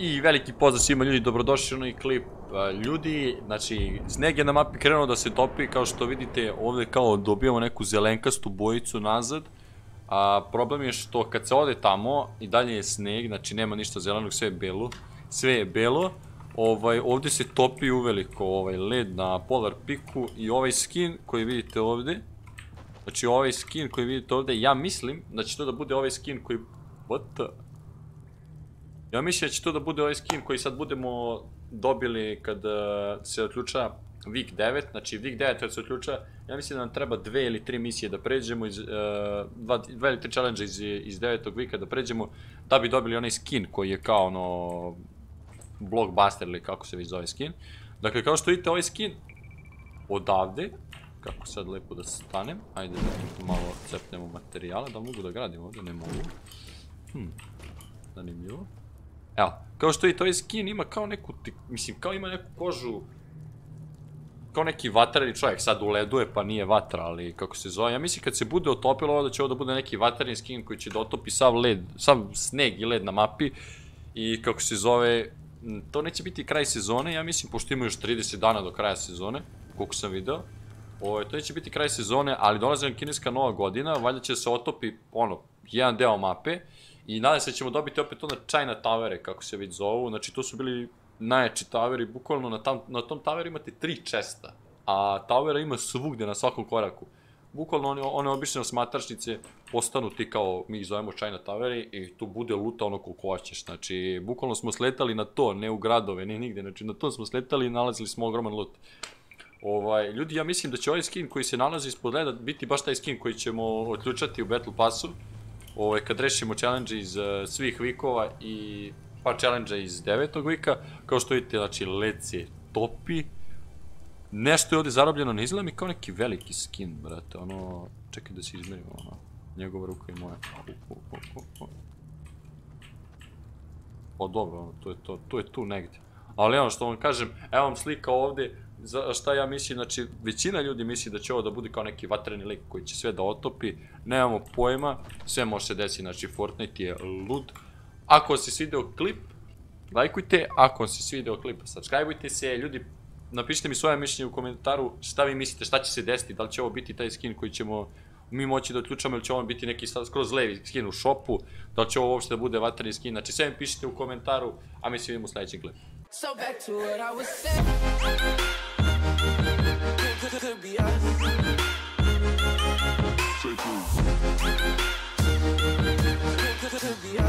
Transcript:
I veliki pozdrav svima ljudi, dobrodošli u novi klip. Ljudi, znači, sneg je na mapi krenuo da se topi, kao što vidite ovdje kao dobijamo neku zelenkastu bojicu nazad. Problem je što kad se ode tamo i dalje je sneg, znači nema ništa zelenog, sve je belo. Ovdje se topi uveliko led na Polar Peaku i ovaj skin koji vidite ovdje. Znači ovaj skin koji vidite ovdje, ja mislim da će to da bude ovaj skin koji... What the... Ja mislim da će to da bude ovaj skin koji sad budemo dobili kad se otključa Week 9, znači Week 9 kad se otključa, ja mislim da nam treba 2 ili 3 misije da pređemo, 2 ili 3 challenge iz 9. weeka da pređemo, da bi dobili onaj skin koji je kao ono blockbuster ili kako se već zove skin. Dakle, kao što vidite ovaj skin odavde, kako sad lepo da stanem, ajde da malo cepnemo materijala, da mogu da gradim ovdje, ne mogu. Zanimljivo. Evo, kao što vidite, ovaj skin ima kao neku, mislim, kao ima neku kožu, kao neki vatreni čovjek, sad u ledu je pa nije vatra, ali kako se zove, ja mislim kad se bude otopilo ovo da će ovo da bude neki vatreni skin koji će da otopi sav led, sav sneg i led na mapi i kako se zove, to neće biti kraj sezone, ja mislim, pošto ima još 30 dana do kraja sezone, koliko sam video, to neće biti kraj sezone, ali dolazi nam kineska nova godina, valjda će se otopi, jedan deo mape. I nadam se da ćemo dobiti opet onda China Towere, kako se već zovu, znači to su bili najjači toweri, bukvalno na tom toweru imate 3 chesta, a towera ima svugdje na svakom koraku. Bukvalno one obične osmatračnice postanu ti kao mi ih zovemo China Toweri i tu bude luta ono koliko hoćeš, znači bukvalno smo sletali na to, ne u gradove, ne nigde, znači na to smo sletali i nalazili smo ogroman loot. Ljudi, ja mislim da će ovaj skin koji se nalazi ispod leda biti baš taj skin koji ćemo otključati u Battle Passu. Kad rešimo challenge iz svih weekova i par challenge iz 9. weeka, kao što vidite, znači led se topi. Nešto je ovdje zarobljeno, ne izgleda mi kao neki veliki skin, brate, čekaj da se izmerimo, njegova ruka i moja. Dobro, to je tu negdje. Ali što vam kažem, evo vam slika ovdje, šta ja mislim, znači većina ljudi misli da će ovo da bude kao neki vatreni lik koji će sve da otopi, nemamo pojma, sve može se desiti, znači Fortnite je lud. Ako vam se svideo klip, lajkujte, ako vam se svideo klip, subscribeujte se, ljudi, napišite mi svoje mišljenje u komentaru šta vi mislite, šta će se desiti, da li će ovo biti taj skin koji ćemo mi moći da otključamo ili će ovo biti neki skroz levi skin u shopu, da li će ovo uopšte da bude vatreni skin, znači sve mi pišite u komentaru, a mi se vidimo u sljedećem klipu. So back to what I was saying. Could be us. Could be us.